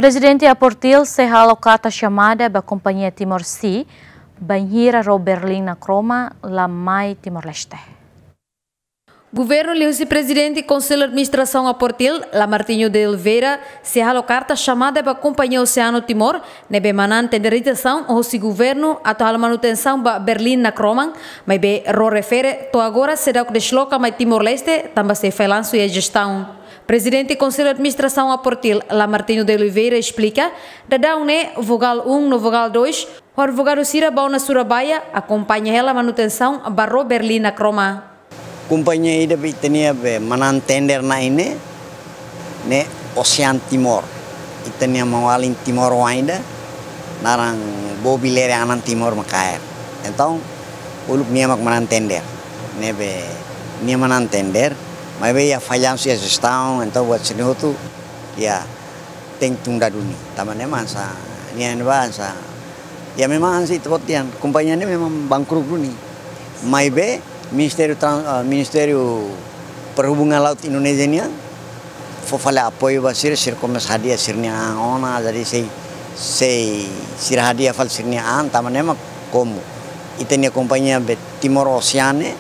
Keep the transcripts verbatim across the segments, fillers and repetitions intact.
Prezidente Aportil sei halo karta xamada ba kompañia Timor Sea, bainhira ró Berlin Nakroma la mai Timor-Leste. Governu liuhusi Prezidente Konsellu Administrasaun Aportil, Lamartine de Oliveira, sei halo karta xamada ba kompañia Oceano Timor, ne'ebé manán tenderizasaun hosi governu atu halo manutensaun ba Berlin Nakroma, maibé ró refere to'o agora seidauk desloka mai Timor-Leste, tanba sei fallansu iha jestaun. Prezidente Konsellu Administrasaun Aportil, Lamartine de Oliveira, esplika, daudaun ne'e Vogál um no Vogál dois, ho advogadu sira bá ona Surabaya, akompaña hela manutensaun ba ró Berlin Nakroma. Kompañia ida be ita-nia be manán tender na'in ne'e, ne'e Ocean Timor. Ita-nia maun-alin Timor oan ida, naran Bobi Lere Anan Timor mak kaer. Entaun, uluk nia mak manán tender. Ne'ebé nia manán tender, maibé iha fallansu iha jestaun, entaun buat sira-ne'e hotu, iha tenke tunda duni. Tanba ne'e mak hanesan, nia ne'ebá hanesan, iha memang hanesan ita-boot dehan, kompañia ne'e memang bangkrut duni. Maibé, Ministériu Tran-, ah, Ministériu Perhubungan Laut Indonézia nian fó fali apoiu ba sira, sira komesa hadi'a sira-nia an ona, jadi sei, sei sira hadi'a fali sira-nia an, tanba ne'e mak komu ita-nia kompañia be Timor Ocean ne'e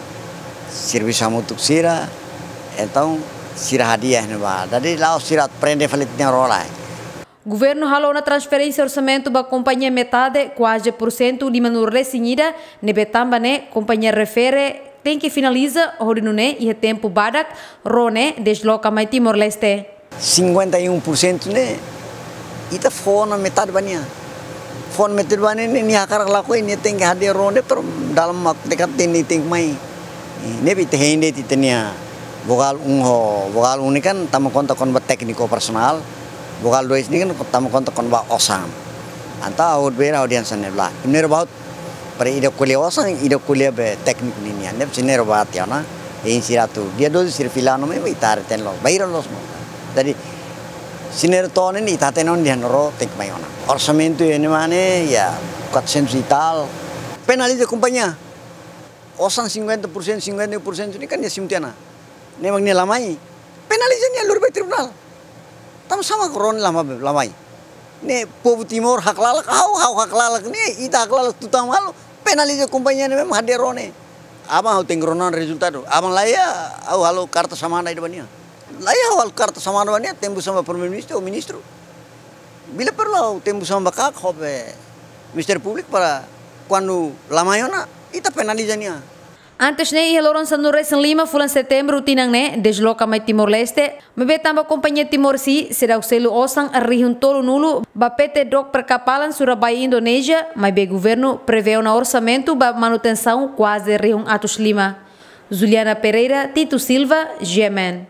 servisu hamutuk sira, entaun sira hadi'a iha ne'ebá. Jadi la'ós sira prende fali ita-nia ró lai. Governu halo ona transferénsia orsamentu ba kompañia metade, kuaze pursentu lima-nulu-resin-ida, ne'ebé tanba ne'e kompañia refere tenke finaliza, hodi nune'e iha tempu badak ró ne'e desloka mai Timor-Leste. Cinquenta e um por cento ne'e, ita fó ona metade ba nia. Fó ona metade ba nia, nia hakarak lakohi, nia tenke hadi'a ró ne'e, pero dalam waktu dekat nia tenke mai. Ne'ebé ita hein de'it ita-nia Vogál um ho, Vogál um ne'e kan toma konta kona-ba tékniku operasionál, Vogál dois ne'e kan toma konta kona-ba osan. Entaun ha'u bele ha'u dehan hanesan ne'e, primeiru ba hotu para ida ko'alia osan, ida ko'alia be tékniku ninian. Ne'ebé sira ne'e ró bá tiha ona, hein sira atu dia doze sira fila ona mai, ita haree-teen loos, bainhira loos mós. Jadi, sira ne'e ró to'o ne'e ita hatene ona dehan ró tenke mai ona. Orsamentu iha ne'e mak ne'e, iha quatrocentos e tal. Penaliza kompañia. Osan cinquenta por cento, cinquenta por cento ne'e kan nia simu tiha ona. Ne'e mak nia la mai. Penaliza nia, lori ba iha tribunál. Tanba sá mak ró ne'e la mai, la mai. Ne'e povu Timor haklalak, ha'u, ha'u haklalak ne'e, ita haklalak tutan malu, penaliza kompañia ne'e memang hadi'a ró ne'e. Aban ha'u tenke rona ona rezultadu. Aban la iha, ha'u halo karta xamada ida ba nia. La iha, ha'u halo karta xamada ba nia, tempu samba Primeiru-Ministru ou Ministru. Bila perlu ha'u tempu samba kak, ho be Ministériu Públiku para kuandu la mai ona, ita penaliza nia. Antes ne'e, iha loron sanulu-resin-lima fulan Setembru tinan ne'e, desloka mai Timor-Leste, maibé tanba kompañia Timor Sea seidauk selu osan rihun tolunulu ba P T Dok Perkapalan Surabaya, Indonézia, maibé governu prevee ona orsamentu ba manutensaun kuaze rihun atus lima. Juliana Pereira, Tito Silva, G M N.